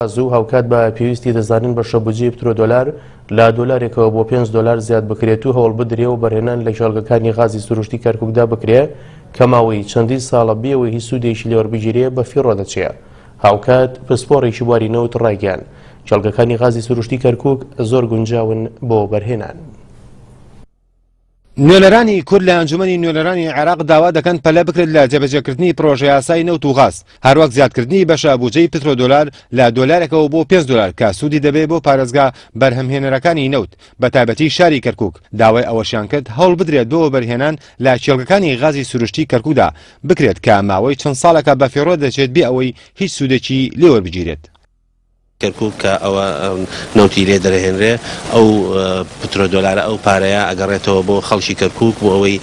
زوو هاوکات بە پێویستی دەزانین بەشە بودجەی پترۆدۆلار لە دۆلارێکەوە بۆ پێنج دۆلار زیاد بکرێت و هەوڵ بدرێ و بەرهێنان لە کێڵگەکانی غازی سروشتی کەرکوکدا بکرێ کە ماوەی چەندین ساڵە بێ ئەوەی هیچ سوودێکی لێوەربگیرێ بە فیڕۆ دەچێ. هاوکات پسپۆڕێکی بواری نەوت ڕایگەیاند کێڵگەکانی غازی سروشتی کەرکوک زۆر گونجاون بۆ وەبەرهێنان. نوێنەرانی کورد لە ئەنجومەنی نوێنەرانی عێراق داوا دەکەن پەلە بکرێت لە جێبەجێکردنی پرۆژەیاسای نەوت و غاز، هەروەک زیادکردنی بەشە بوجەی پترۆدۆلار لە دۆلارێکەوە بۆ پێنج دۆلار کە سوودی دەبێت بۆ پارێزگا بەرهەمهێنەرەکانی نەوت بەتایبەتی شاری کەرکوک، داوای ئەوەشیان کرد هەوڵ بدرێت بۆ وەبەرهێنان لە کێڵگەکانی غازی سروشتی کەرکوکدا بکرێت کە ماوەی چەند ساڵێکە بەفیڕۆ دەچێت بێ ئەوەی هیچ سوودێکی لێوەربگیرێت. کەرکوک کە ئەوە نەوتی لێ دەرەهێنرێ ئەو پترۆ دۆلارە ئەو پارەیە ئەگەڕێتەوە بۆ خەڵکی کەرکوک بۆ ئەوەی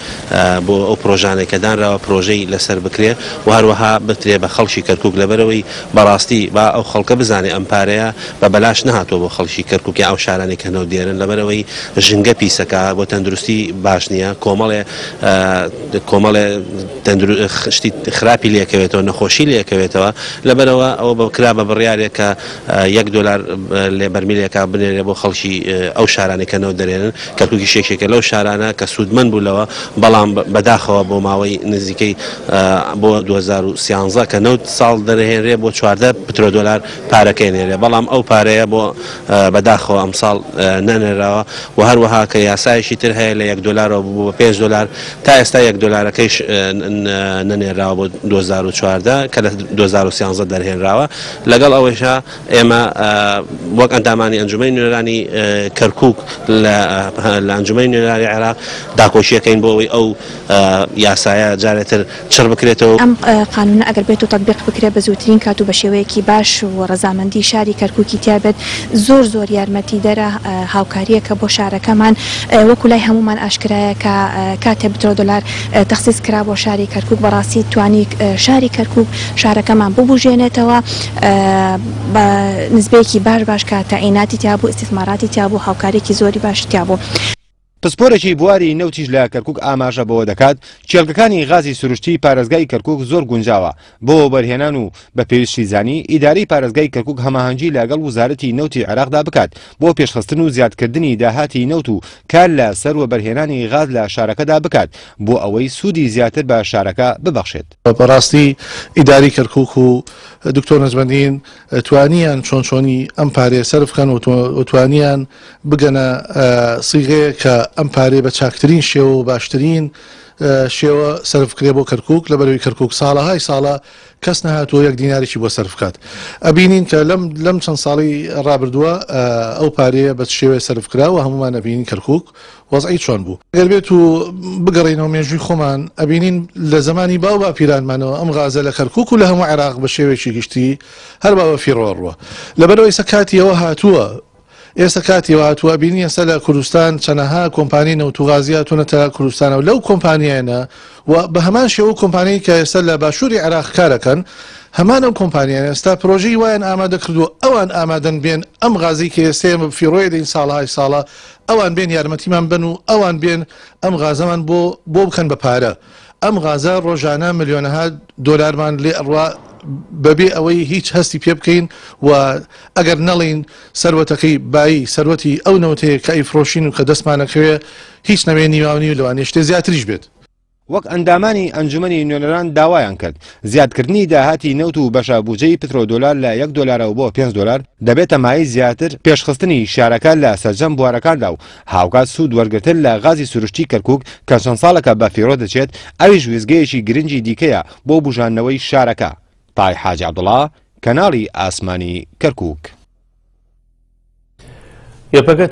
بۆ ئەو پرۆژانەی کە دانراوە پرۆژەی لەسەر بکرێ و هەروەها بترێ بە خەڵکی کەرکوک لەبەرئەوەی بەڕاستی با ئەو خەڵکە بزانێ ئەم پارەیە بە بەلاش نەهاتووە بۆ خەڵکی کەرکوک یا ئەو شارانەی کە نەوت دێنن لەبەرئەوەی ژینگە پیسەکە بۆ تەندروستی باش نییە کۆمەڵێ کۆمەڵێ شتی خراپی لێکەوێتەوە نەخۆشی لێکەوێتەوە لەبەرئەوە ئەوە بە کرا بە بڕیارێک کە یەک دۆلار لێ بەرمیلێکا بنێرێ بۆ خەڵکی ئەو شارانەی کە نەوت دەرێنن، کەرکوکیش یەکێکە لەو شارانە کە سوودمەند بوو لەوە، بەڵام بەداخەوە بۆ ماوەی نزیکەی بۆ 2013 کە نەوت ساڵ دەرهێنرێ بۆ 14 پترۆدۆلار پارەکەی نێرێ، بەڵام ئەو پارەیە بۆ بەداخەوە ئەمساڵ نەنێراوە و هەروەها کە یاسایەکی تر هەیە لە یەک دۆلارەوە بوو بە پێنج دۆلار تا ئێستا یەک دۆلارەکەیش نەنێراوە بۆ 2014 کە لە 2013 دەرهێنراوە لەگەڵ ئەوەیشا ئێمە وەک ئەندامانی ئەنجومەنی نوێنەرانی کەرکوک لە ئەنجومەنی نوێنەرانی عێراق داکۆکیەکەین بۆ ئەوەی ئەو یاسایە جارێتر چڕ بکرێتەوە. ئەم قانونە ئەگەر بێت و تەتبیق بکرێت بە زووترین کات و بە شێوەیەکی باش و ڕەزامەندی شاری کەرکوکی تیا بێت زۆر زۆر یارمەتیدەرە هاوکاریەکە بۆ شارەکەمان وەکو لای هەموومان ئاشکرایە کە کاتێ بترۆدۆلار تەخسیس کرا بۆ شاری کەرکوک بەڕاستی توانی شاری کەرکوک شارەکەمان ببوژێنێتەوە بە نسبەیەکی باش باش کە تەعیناتی تیا بوو ئیستیسماراتی تیا بوو هاوکاریەکی زۆری باشی تیا بوو. پسپۆرێکی بواری نەوتیش لە کەرکوک ئاماژە بەوە دەکات، کێڵگەکانی غازی سروشتی پارێزگای کەرکوک زۆر گونجاوە بۆ وەبەرهێنان و بە پێویستی زانی ئیدارەی پارێزگای کەرکوک هەماهەنگی لەگەڵ وزارەتی نەوتی عێراقدا بکات بۆ پێشخستن و زیادکردنی داهاتی نەوت و کار لە سەر وەبەرهێنانی غاز لە شارەکەدا بکات بۆ ئەوەی سوودی زیاتر بە شارەکە ببەخشێت. بەڕاستی ئیدارەی کەرکوک و دکتۆر نەجمەدین توانیان چۆن چۆنی ئەم پارەیە سەرف بکەن و توانیان بگەنە سیغەیەک کە ئەم پارەیە بە چاکترین شێوە و باشترین شێوە سەرف بکرێ بۆ کەرکوک، لەبەرئەوەی کەرکوک ساڵەهای ساڵە کەس نەهاتووە یەک دینارێکی بۆ سەرف بکات. ئەبینین کە لەم لەم چەند ساڵەی ڕابردووە ئەو پارەیە بە چ شێوەیە سەرف کرا و هەموومان ئەبینین کەرکوک وەزعی چۆن بوو. گەر بێت و بگەڕێینەوە مێژووی خۆمان ئەبینین لە زەمانی باو باپیرانمانەوە ئەم غازە لە کەرکوک و لە هەموو عێراق بە شێوەیەکی گشتی هەر بە بەفیڕۆ ڕووە. لەبەرئەوەی ئێستا کاتی ئەوە هاتووە ئێستا کاتی ئەوە هاتووە ئەبینین ئێستا لە کوردستان چەنەها کۆمپانیای نەوت و غازی هاتوونەتە کوردستانەوە لەو کۆمپانیایانە و بە هەمان شێوە کۆمپانیای کە ئێستا لە باشووری عێراق کارەکەن هەمان ئەو کۆمپانیانە ئێستا پرۆژەی وایان ئامادە کردووە ئەوان ئامادەن بێن ئەم غازەی کە ئێستا ئێمە فیڕۆی دەین ساڵەهای ساڵە ئەوان بێن یارمەتیمان بەن و ئەوان بێن ئەم غازەمان بۆ بۆ بکەن بە پارە ئەم غازە ڕۆژانە ملیۆنەها دۆلارمان لێ ئەڕوا بەبێ ئەوەی هیچ هەستی پێ بکەین و ئەگەر نەڵێین سەروەتەکەی بایی سەروەتی ئەو نەوتەیە کە ئەیفرۆشین و کە دەستمانەکەوێ هیچ نەبێ نیواونیو لەوانەیە شتێ زیاتریش بێت. وەک ئەندامانی ئەنجومەنی نوێنەران داوایان کرد، زیادکردنی داهاتی نەوت و بەشە بوجەی پترۆدۆلار لە یەک دۆلارەوە بۆ پێنج دۆلار دەبێتە مایەی زیاتر پێشخستنی شارەکە لە سەرجەم بوارەکاندا و هاوکات سوود وەرگرتن لە غازی سروشتی کەرکوک کە چەند ساڵێکە بە فیڕۆ دەچێت ئەویش وێستگەیەکی گرنگی دیکەیە بۆ بوژاندنەوەی شارەکە. تای حاجی عەبدوڵا، کەناڵی ئاسمانی کەرکوک. یەپەگە.